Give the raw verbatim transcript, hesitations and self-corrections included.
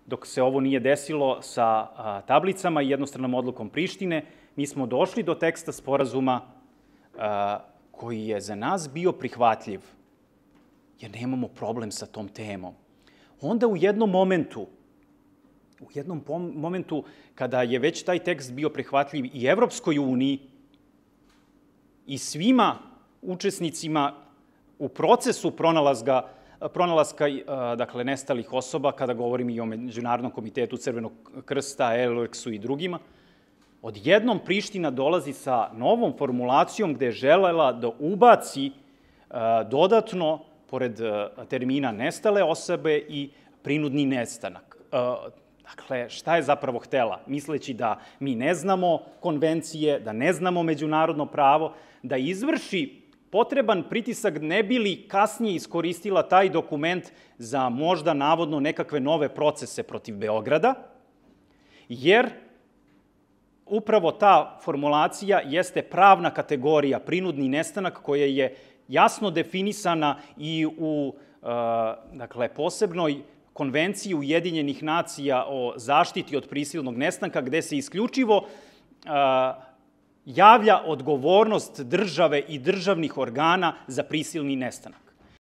dok se ovo nije desilo sa tablicama i jednostranom odlukom Prištine, mi smo došli do teksta sporazuma koji je za nas bio prihvatljiv, jer nemamo problem sa tom temom. Onda u jednom momentu, u jednom momentu kada je već taj tekst bio prihvatljiv i Evropskoj uniji i svima učesnicima u procesu pronalaska, pronalaska dakle, nestalih osoba, kada govorim i o Međunarodnom komitetu Crvenog krsta, Euleksu i drugima, odjednom Priština dolazi sa novom formulacijom gde je želela da ubaci dodatno, pored termina nestale osobe, i prinudni nestanak. Dakle, šta je zapravo htela? Misleći da mi ne znamo konvencije, da ne znamo međunarodno pravo, da izvrši potreban pritisak ne bi li kasnije iskoristila taj dokument za možda navodno nekakve nove procese protiv Beograda, jer upravo ta formulacija jeste pravna kategorija, prinudni nestanak, koja je jasno definisana i u dakle, posebnoj konvenciji Ujedinjenih nacija o zaštiti od prisilnog nestanka, gde se isključivo javlja odgovornost države i državnih organa za prisilni nestanak.